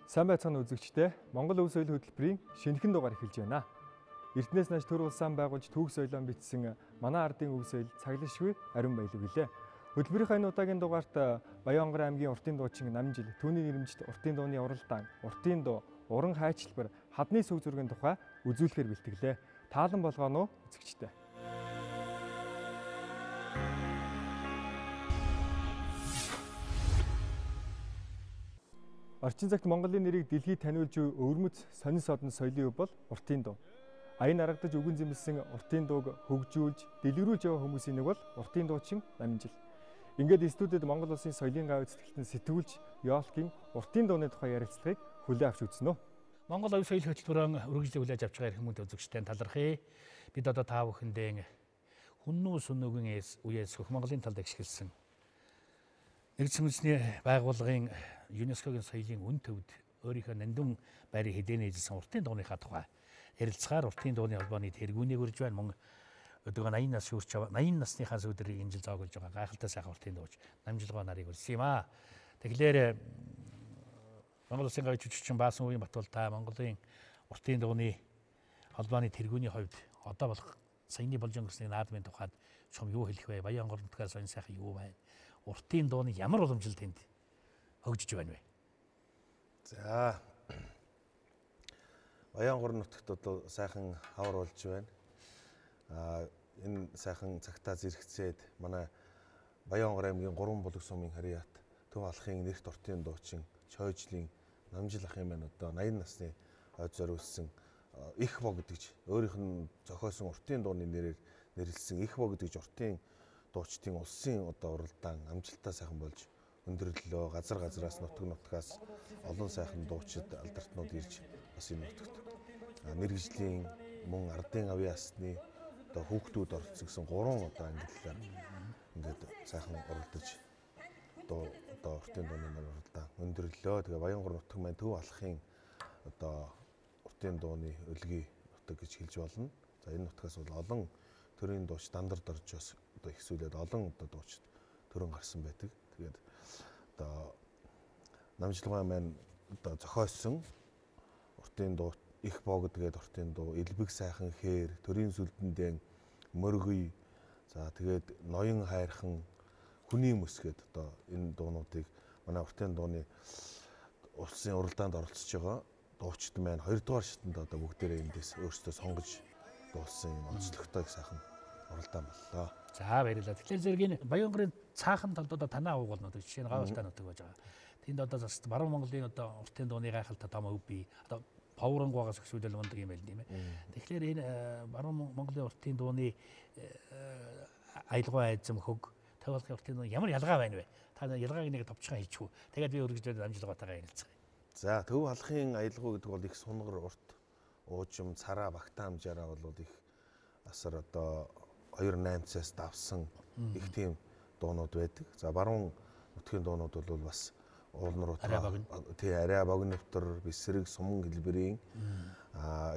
Сайн байцгаана үзэгчдээ. Монгол өв соёлын хөтөлбөрийн шинэхэн дугаар эхэлж байна. Эрдэнэс нааш төр улсаан байгуулж түүх соёлоо бичсэн манай ардын өв соёл цаглашгүй ариун баялаг гэлээ. Хөтөлбөрийн энэ удаагийн дугаарт Баянгар аймгийн уртын дуучин Намжил, түүний нэрмжит уртын дууны уралдаан, уртын дуу, уран хайчилбар, хадны сүг зургийн тухай үзүүлэхээр бэлтгэлээ. Таалан болгоно уу үзэгчдээ. Орчин цагт Монголын нэрийг дэлхийд таниулж өвөрмөц сонин содон соёлын өв бол уртын дуу. Аян аргадаж үгэн зэмлсэн уртын дууг хөгжүүлж, дэлгэрүүлж яваа хүмүүсийн нэг бол уртын дуучин Намжил. Ингээд студид Монгол улсын соёлын гав эзэтгэлтэн сэтгүүлч Ёлкийн уртын дууны тухай ярилцлагыг хүлээн авч үзнэ үү. Монгол өв соёлын хөтөлбөрөөр үргэлжлэн хүлээж авч байгаа хүмүүст үзэгчтэй талархъя. Бид одоо та бүхэндээ хүннүү сүнөгийн үеэс хөх Монголын талд ашигласан Нэгдсэн үндэсний байгууллагын ЮНЕСКОгийн соёлын үн төвд өөрийнхөө нандин байрыг хэдийнэ эзэлсэн уртын дууныхаа тухай ярилцахаар уртын дууны холбооны тэргүүнийг үрж байна. Мөн өдөө 80 нас хүрч 80 насныхаа сүдрийг энэ жил зоогуулж байгаа гайхалтай сайхан уртын дууч Намжилгоо нарыг үлсэн юм аа. Тэгэхээр Монгол Улсын гавь жүжигчин Баасан үеийн Батбол та Монголын уртын дууны холбооны тэргүүний хувьд одоо болох саяны болж өнгөрсний наадмын тухайд чом юу хэлэх вэ? Баянгар нутгаас сонь сайхан юу байна? Уртын дууны ямар уламжлал тэнд хөгжиж байна вэ? За Баянгар нутагт одоо сайхан хавар болж байна. Энэ сайхан цагтаа зэрэгцээд манай Баянгар аймгийн 3 булаг сумын харьяат Төв алхын нэрт уртын дуучин Чойжлийн Намжил ахын маань одоо 80 насны ойд зориулсан их бо гэдэгч өөрийнх нь зохиосон уртын дууны нэрээр нэрлсэн их бо гэдэгч уртын дуучдын улсын одоо уралдаан амжилттай сайхан болж өндөрлөлөө. Газар газараас нутгаас олон сайхан дуучид алдартнууд ирж бас энэ нутагт мэргэжлийн мөн ардын авийн ясны одоо хүүхдүүд оролцсон 3 одоо ангиллаар ингээд сайхан уралдаж одоо уртын дууны уралдаан өндөрлөлөө. Тэгээ Баянгар нутаг маань Төв алхын одоо уртын дууны өлгий нутаг гэж хэлж болно. За энэ нутгаас бол олон төрийн дууч дандард орж бас одоо ихсүүлээд олон одоо дуучид төрөн гарсан байдаг. Тэгээд одоо Намжилгаа маань одоо зохиосон уртын дуу их боо гэдгээд уртын дуу элбэг сайхан хээр төрийн сүлдэндээ мөргөй за тэгээд ноён хайрхан хүний мөс гээд одоо энэ дуунуудыг манай уртын дууны улсын уралдаанд оролцож байгаа дуучид маань 2 дугаар шатанд одоо бүгдээрээ эндээс өөрсдөө сонгож дуулсан юм онцлогтой сайхан уралдаан боллоо. За баярлалаа. Тэгэхээр зэргийн Баянгарын цаахан талдуудаа танаа уугуулна гэдэг жишээ нь гавьтай нутаг байж байгаа. Тэнд одоо бас баруун Монголын одоо уртын дууны гайхалтай том өв бий. Одоо Повронгоогоос өсвөлөл мундаг юм байл тийм ээ. Тэгэхээр энэ баруун Монголын уртын дууны аялгаа айзам хөг Төв алхын уртын дууны ямар ялгаа байна вэ? Та ялгааг нэг товчхон хэлчихв. Тэгээд би үргэлжлээд Намжилгаатайгаа ярилцгаая. За Төв алхын аялгаа гэдэг бол их сунгар урт уужим цараа багтаа хамжаараа бол их асар одоо 2-8-цаас давсан их тийм дуунууд байдаг. За баруун нутгийн дуунууд бол бас уулнар арай богиновтор бисрэг суман гэлбэрийн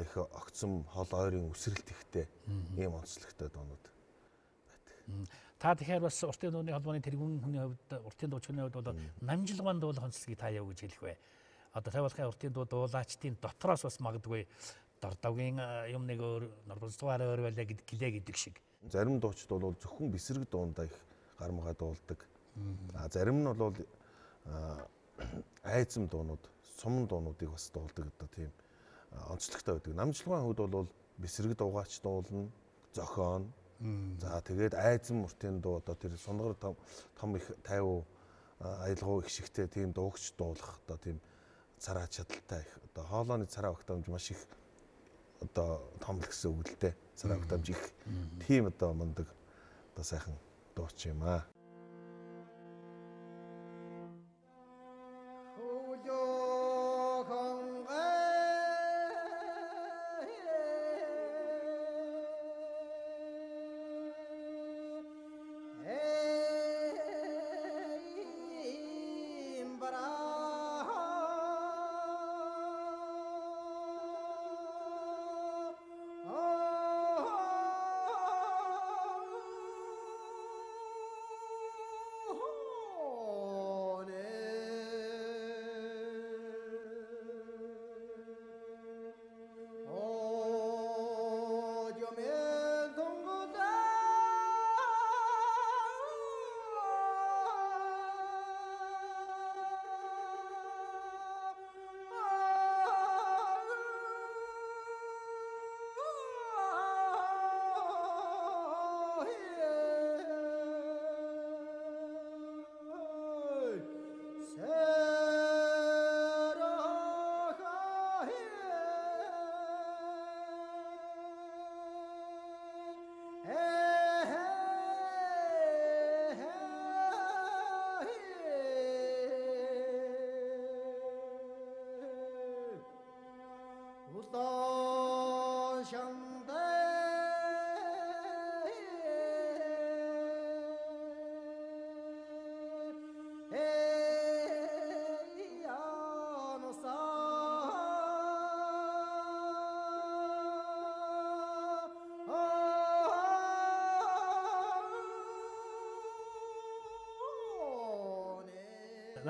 их огцом хол ойрын үсрэлт ихтэй ийм онцлогтой дуунууд байдаг. Та тэгэхээр бас уртын дууны холбооны тэргүүн хүний хувьд уртын дуучны хувьд бол Намжилгаан дуулах онцлогийг та яв гэж хэлэх вэ? Одоо Төв алхын уртын дуу дуулаачдын дотроос бас магадгүй Дордовгийн юм нэг өөр Норболцгоор өөр байлаа гэлээ гэдэг шиг. Зарим дуучид бол зөвхөн бисрэг дуундаа их гармгаа дуулдаг. Зарим нь бол айзам дуунууд, суман дуунуудыг бас дуулдаг одоо тийм онцлогтой байдаг. Намжилгаан хувьд бол бисрэг дуугаач дуулна, зохион. За тэгээд айзам уртын дуу одоо тэр сунгар том их 50 аялгау их шигтэй тийм дуугч дуулах одоо тийм цараа чадaltaй их одоо хоолойны цараа багтаамж маш их одоо том л гэсэн үг л дээ. Цараа багтаамж их тийм одоо мундаг одоо сайхан дууч юм аа.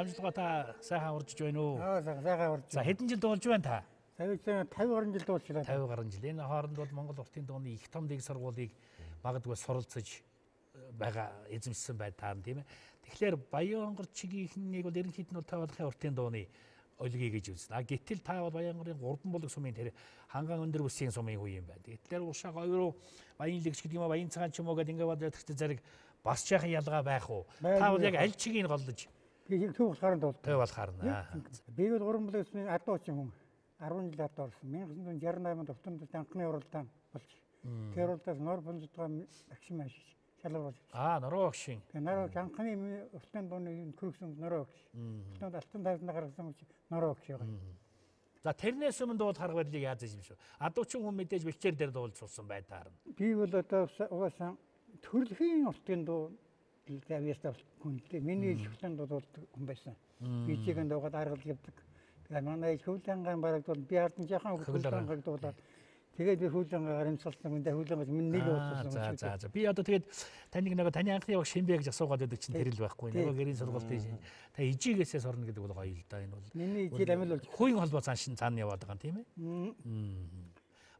Намжлага та сайхан уржиж байна уу? Сайхан урж. За хэдэн жил дуулж байна та? Сая 50 гаруй жил дуулчлаа. 50 гаруй жил. Энэ хооронд бол Монгол уртын дууны их том дэг сургуулийг магадгүй суралцаж байгаа эзэмшсэн бай таа тийм ээ. Тэгэхээр Баянгор чигийнхнийг бол ерөнхийд нь тавуулахын уртын дууны олгий гэж үзнэ. Гэтэл та бол Баянгорын 3 булаг сумын тэр ханган өндөр бүсийн сумын хүү юм байна. Тэгэхээр уушаа гоёроо Баян лэгч гэдэг юм аа Баян цагаан ч юм уу гэдэг ингээд бодохтой зэрэг бас жаахан ялгаа байх уу? Та бол яг аль чигийг голдож Би төв болохоор дуулт. төв болохоор наа. Би бол 3 булаг сумын адуу ч юм. 10 жил адуу орсон. 1968 онд Утандд анхны уралдаан болж. Тэр уралдаас нор бонцтойгоо агшин машиж шалгар болж. Нороо огшин. Тэгээ нороо анхны уралдаан дууны көрөгсөн нороо огш. Утанд алтан тайзнаа гаргасан үуч нороо огш байгаа. За тэрнээс өмнө дууд харга барилыг яаж юм шүү. Адуучин хүн мэдээж бэлчээр дээр дуулж суусан бай таарна. Би бол одоо угаасаа төрөлхийн уртын дуу Тавьяастаа хүнтэй миний хөвлөнд дуулдаг хүн байсан. Би чигэнд дуугаад аргалж явдаг. Тэгээ манай хөвлөнгийн бараг бол би ардан жаахан хөвлөнгөг дуулаад тэгээд би хөвлөнгөөр имсалсан үндэ хөвлөнгөж минь нэг уусан. За. Би одоо тэгээд таныг нөгөө таны анхны яг Шинбэ гэж асуугаад байдаг чинь тэрэл байхгүй. Нөгөө гэрийн сургалт тийм. Та ижигээсээ сорно гэдэг бол гоё л да энэ бол. Миний ижил амил бол хүйн холбоо цаана яваад байгаа юм тийм ээ.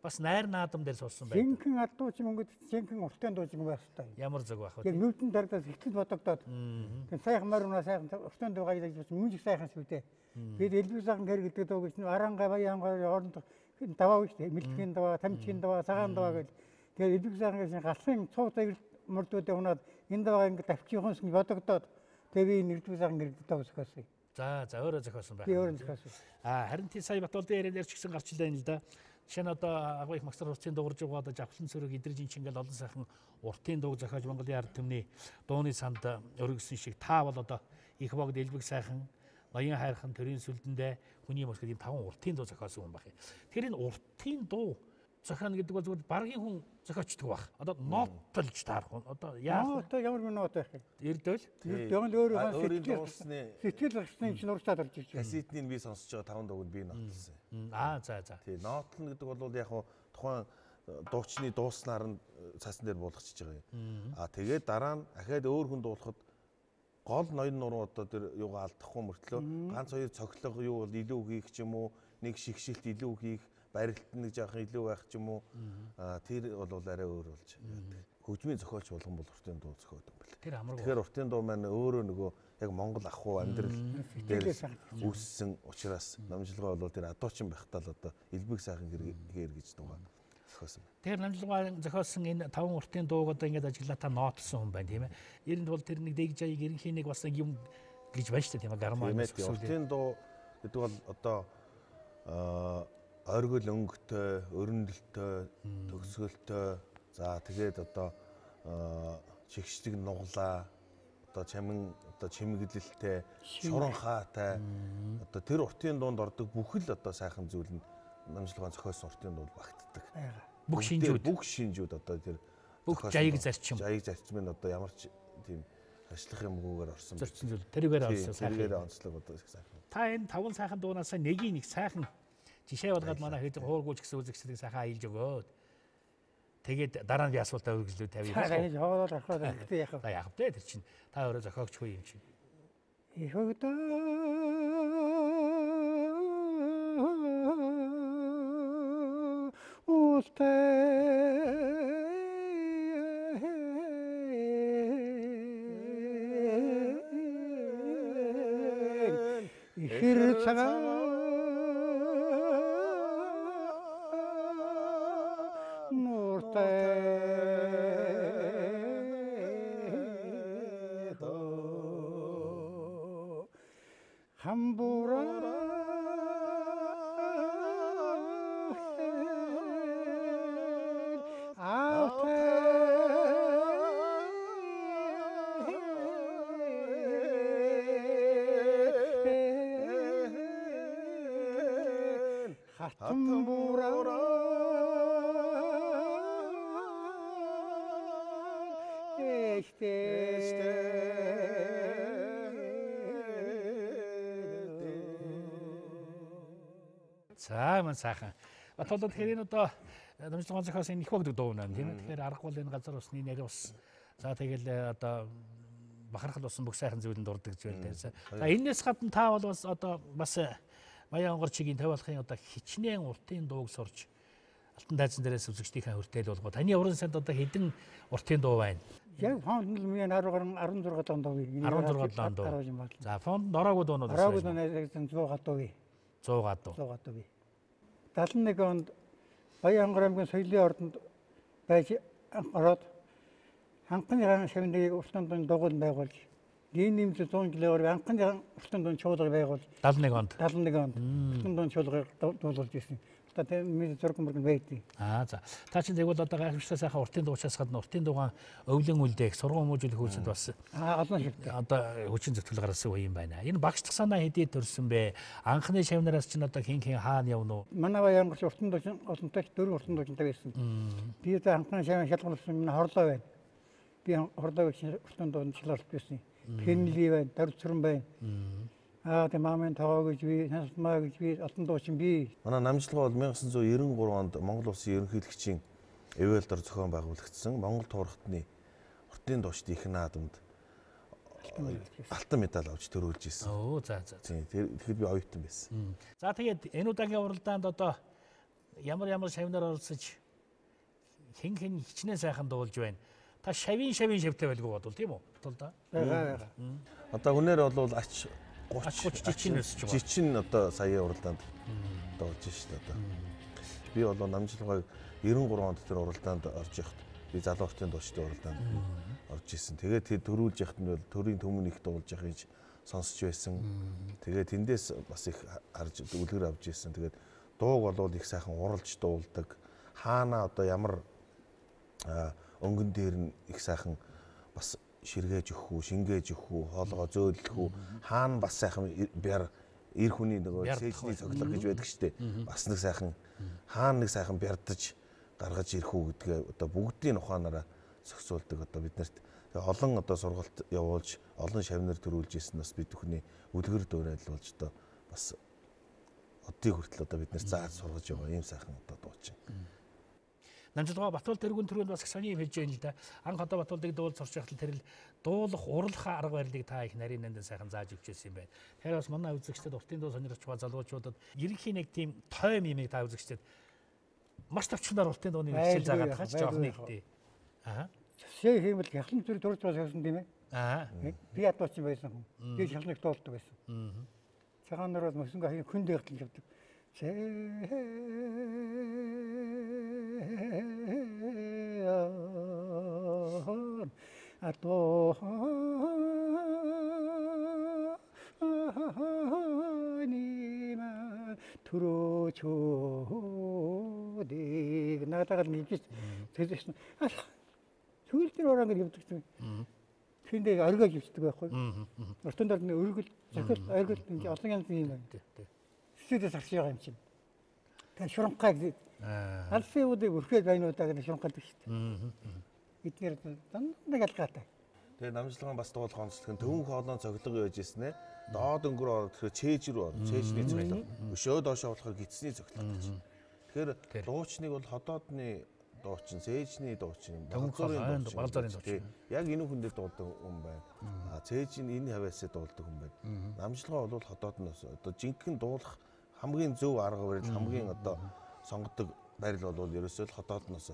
Бас найр наадам дээр суусан байх. Жинхэнэ адууч мөнгөд жинхэнэ уртын дууч юм байх хэрэгтэй. Ямар зөв байх вэ? Яг нүдэн дардаас ихтгэл бодогдоод. Тэгээ сайхан марууна сайхан уртын дуу гайдаж мөнгө сайхан сүдэ. Бид элбэг сайхан гэр гэдэг дуу гэж аранга баянгар оронд даваа гэж мэлтгэн даваа, тамчгийн даваа, цагаан даваа гэж. Тэгээ элбэг сайхан гэж галсын цуутай мөрдүүдээ унаад энэ даваа ингэ тавчихсан гэж бодогдоод тэгээ би элбэг сайхан гэр гэдэг дуу зохиосон. За өөрөө зохиосон байх. Би өөрөө зохиосон. Харин тий сая Батболдын ярианаар ч гэсэн гарч илаа л да. Жишээ нь одоо агуу их магсар уртын дуурж байгаа одоо Жавхлан цэрэг идрэж ингээл олон сайхан уртын дууг зохиож Монголын ард түмний дууны санд өргөсөн шиг та бол одоо их богд элбэг сайхан ноён хайрхан төрийн сүлдэндээ хүний мөс гэдэг 5 уртын дуу зохиосон хүн байна. Тэгэхээр энэ уртын дуу зохионо гэдэг бол зөвхөн баргийн хүн зохиочдөг баг. Одоо ноотолж таарах хүн. Одоо яах вэ? Ямар нэг ноот байх юм. Эрдэл. Тэгэл өөрийн сэтгэл гарсны чинь урагшаад орж ирж байна. Кассетний би сонсож байгаа 5 дууг нь би нотлсон. За. Тий, нотлно гэдэг бол яг тухайн дуучны дууснаар нь цаасан дээр буулгачихж байгаа юм. Тэгээд дараа нь ахаад өөр хүн дуулахад гол ноён нуруу одоо тэр юугаа алдахгүй мөртлөө ганц хоёр цоглого юу бол илүү хийх ч юм уу, нэг шигшилт илүү хийх, барилт нэг жоохон илүү байх ч юм уу. Тэр бол арай өөр болж байдаг. Хөгжмийн зохиолч болгон бол уртын дуу зохиодог юм байна. Тэр амаргүй. Тэгэхээр уртын дуу маань өөрөө нөгөө яг Монгол ахуй амьдрал дээр үүссэн учраас намжлага бол тэр адуучин байхдаа л одоо элбэг сайхан гэр гэж дуугаа зохиосон байна. Тэр намжлага зохиосон энэ 5 уртын дууг одоо ингэж ажиглаа та ноотсон хүн байна тийм ээ. Эрэнд бол тэр нэг дэг жаыг ерөнхийн нэг бас нэг юм гэж байна шүү дээ тийм ээ. Гармаа уртын дуу гэдэг бол одоо оргил өнгөтэй, өрнөлтөй, төгсгөлтөй, за тэгээд одоо чигшдэг нуглаа, одоо чамин одоо чимэглэлтэй, шуран хаатай, одоо тэр уртын дуунд ордог бүх л одоо сайхан зүйл нь намжлагын зохиосон уртын дуунд багтдаг. Бүх шинжүүд одоо тэр бүх жаяг зарчим нь одоо ямар ч тийм ажиллах юмгүйгээр орсон. Зарчим зүйл тэрүүгээр орсон сайхан. Тэрүүгээр онцлог одоо сайхан. Та энэ 5 сайхан дуунаас нэг сайхан жишээ болгоод манай хэд хуургуулж гэсэн үзэгчдийг сайхан аялж өгөөд тэгээд дараа нь би асуултаа үргэлжлүү тавья. Та хоолол ороход ихтэй яах вэ? За яах вэ тэр чинь та өөрөө зохиогч хүү юм чинь. Их өгдөө ултай ихэр цагаан хатан бураа За мань сайхан. Батлаад тэгэхээр энэ одоо намжлагын зохиос энэ их багдаг дуу нэ тийм ээ. Тэгэхээр аргагүй энэ газар усны нэр ус. За тэгэл одоо бахархал болсон бүх сайхан зүйлэнд дурдаг гэж байна. За энэс гадна та бол бас одоо бас Баян онгорчигийн тавиалахын одоо хичнээн уртын дууг сурч Алтан дайзан дээрээс үзэгчдийнхээ хүртэл болгоо. Таны уран санд одоо хэдэн уртын дуу байна? Яг фонд нь миний 16 дон дуу. 16 дон дуу. За фонд ороогүй дуунууд байна. Ороогүй дуунууд 100 дуу. 100 дуу. 100 дуу. 71 онд Баян онгор аймгийн соёлын ордонд байж ороод анхны шавныг уртын дуун дуугууд байгуулж ийм нэмэлт 100 жилээр анхны уртын дуун чуулга байгуулж 71 онд уртын дуун чуулгыг дуулуулж ирсэн. Одоо миний зураг мөргөнд байдгийг. За. Та чинь тэгвэл одоо гайхамшигтай сайхан уртын дуучаас гадна уртын дуугаан өвлөн үлдээх, сургууль хүмүүжүүлэх үйлсэд бас олон шилдэг. Одоо хүчин зөвтгөл гаргасан үе юм байна. Энэ багшлах санаа хэдий төрсөн бэ? Анхны шавнараас чинь одоо хин хаана явна уу? Манай Баян онгорч уртын дуучин олонтой 4 уртын дуучинтай байсан. Би одоо анхны шавны шалгуулсан миний хорлоо байна. Би хорлоог уртын дуунд шалгалт байсан. Пенли байна, Дарцран байна. Тэгээ маамын тоогоо гэж би, Хансмаа гэж би, Алтан дуучин би. Манай намжлага бол 1993 онд Монгол Улсын ерөнхийлөгчийн эвэлдор зохион байгуулагдсан Монгол туурхтны уртын дуучид их наадамд алтан медаль авч төрүүлж ирсэн. Тэгэхээр би оюутан байсан. За тэгээд энэ удаагийн уралдаанд одоо ямар шавнаар оролцож хэн хичнээн сайхан дуулж байна. Та шавийн шавтай байлгүй бодвол тийм үү? Бага. Одоо хүнээр бол ач 30 жичин өсөж байгаа. Жичин одоо сая уралдаанд дуулж шүү дээ одоо. Би бол намжлагыг 93 онд тэр уралдаанд орж явахад би залуу уртын дуучдын уралдаанд орж исэн. Тэгээд тэр төрүүлж яхад нь бол төрийн төмөн их дуулж явах гэж сонсч байсан. Тэгээд тэндээс бас их харж үлгэр авч исэн. Тэгээд дууг бол их сайхан уралж дуулдаг. Хаана одоо ямар өнгөн дээр нь их сайхан бас ширгээж өгөх үү, шингээж өгөх үү, хоолгоо зөөлөх үү, хаана бас сайхан бяр эр хүний нөгөө сэлжний цоглог гэж байдаг шүү дээ. Бас нэг сайхан хаана нэг сайхан бярдаж гаргаж ирэх үү гэдгээ одоо бүгдийн ухаанаараа зохицуулдаг одоо биднэрт олон одоо сургалт явуулж, олон шавнар төрүүлж ирсэн бас бид бүхний үлгэр дуурайлуулж одоо бас оддыг хүртэл одоо биднэр зааж сургаж байгаа ийм сайхан одоо дуучин. Намжлага Батбол тэргүүн төрөнд бас сони юм хэлж байна л да. Анх одоо Батболыг дуул сурч байхад тэр дуулах, урлах арга барилыг та их нарийн нандин сайхан зааж өгчээсэн юм байна. Тэгэхээр бас манай үзэгчдэд уртын дуу сонирхож байгаа залуучуудад ерөнхийн нэг тийм тойм юмыг та үзэгчдэд маш товчхоноор уртын дууны хичээл заагаад байгаа ч жоох нэгтэй. Шээ хиймэл хялан зүрх дурж байгаа байсан тийм ээ. Би ядуучин байсан хүн. Би хялныг дуулдаг байсан. Цагаан нар бол мөсөнгө хүн дээртэл явдаг. Ато нима түрөөчөөдийг наатагаар нэгж тэгсэн. Сүүлд нь ороо ингэ явдаг юм. Тэндээ оргиож явдаг байхгүй. Уртын дор нэг өргөл, захил, оргил ингэ олон янзын юм байна. Сэтэс арч байгаа юм чинь. Тэгээ шуранхай гэдэг. Алсын үүдийг өрхөөд байнуудаа гэж шуранхайдаг шүү дээ. Эдгээр дандаа ялгаатай. Тэгээ намжлагын бас дуулах онцлог нь төвөн хоолойн цоглого яаж ийсэн ээ. Доод өнгөр ороод тэгэхээр чээж рүү ороод чээжний цоглого. Өшөө доошоо болохоор гидсний цоглого гэж. Тэгэхээр дуучныг бол ходоодны дуучин, цээжний дуучин, балзарын дуучин. Яг энэ хүндээ дуулдаг хүн байна. Цээж нь энэ хавьяасаа дуулдаг хүн байна. Намжлага бол ходоодноос одоо жинхэнэ дуулах хамгийн зөв арга барил, хамгийн одоо сонгодог барил бол ерөөсөө л ходоодноос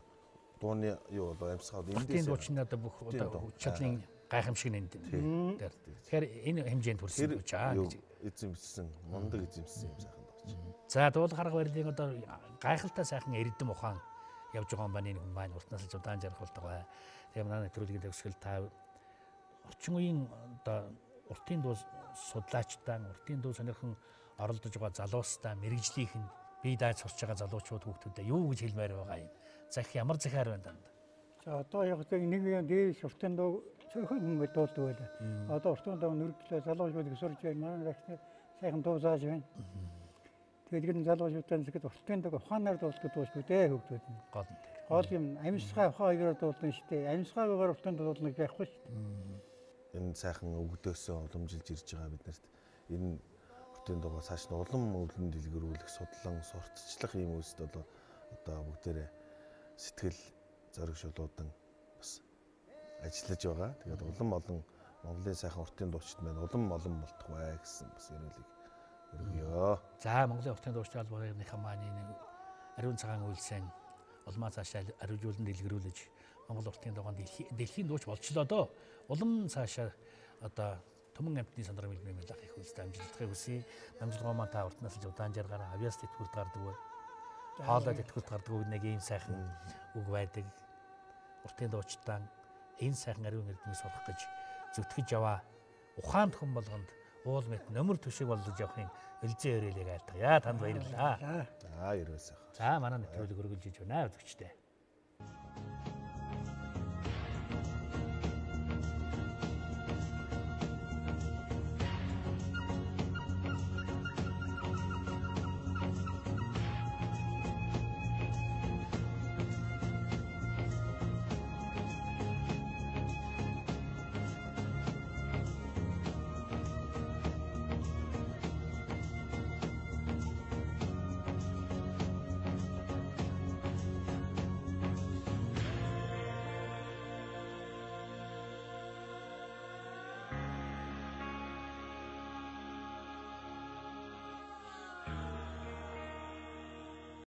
дууны юу бол амьсгал эндээс дуучны одоо бүх одоо чадлын гайхамшиг нь энд дээр. Тэгэхээр энэ хэмжээнд хүрсэн гэж гэж эзэмсэн, мундаг эзэмсэн юм сайхан дууч. За дуулах арга барилын одоо гайхалтай сайхан эрдэм ухаан явж байгаа юм байна энэ хүн маань уртнаас л удаан жаргуулдаг бай. Тэгээ манай нэвтрүүлгийн төгсгөл та орчин үеийн одоо уртын дуу судлаачтай, уртын дуу сонирхон оролдож байгаа залуустай, мэрэгжлийнх нь бие дааж сурч байгаа залуучууд хүүхдүүдэд юу гэж хэлмээр байгаа юм. Ямар захиар байна даа. За одоо яг нэг юм дээш уртын дуу цөөхөн хүмүүс дуулдаг байлаа. Одоо уртын дуу нөрөглөө залуучуудыг сурж байна. Манай рахны сайхан дуу зааж байна. Тэгээд энэ залуучуудаа нэгэд уртын дог ухаанаар дуулдаг дуу шүү дээ хөгдүүд нь. Гол юм амьсгаа ухаан хоёроор дуулна шүү дээ. Амьсгаагаар уртын дуулна байхгүй шүү дээ. Энэ сайхан өгдөөсөө уламжилж ирж байгаа биднэрт энэ уртын дугаа цааш нь улам өвлөн дэлгэрүүлэх, судлан сурталчлах ийм үйлсд бол одоо бүгдээрээ сэтгэл зоригшуулуудан бас ажиллаж байгаа. Тэгээд улам олон Монголын сайхан уртын дуучид маань улам олон болтох бай гэсэн бас ярилыг өргөё. За Монголын уртын дуучид албаныхаа маань ариун цагаан үйлсэн улмаа цаашаа ариужуулан дэлгэрүүлж Монгол уртын дугаан дэлхийн дууч болчлоо доо. Улам цаашаа одоо Төмөн амтны сандрын мэлмэл ах их үйлс амжилттай хүсье. Намжлогоо маань та уртнаас л удаан жаргаараа авьяас тэтгэврт гардаг бай. Хаалаа тэтгэврт гардаг нэг ийм сайхан үг байдаг. Уртын дуучдаа энэ сайхан ариун эрдмийг сурах гэж зүтгэж яваа. Ухаанд хүн болгонд уул мэт нөмөр төшиг болж явахын элзэн өрөөлийг айлтгая. Танд баярлалаа. За ерөөсөө. За манай нэвтрүүлэг өргөлж иж байна үзэгчдээ.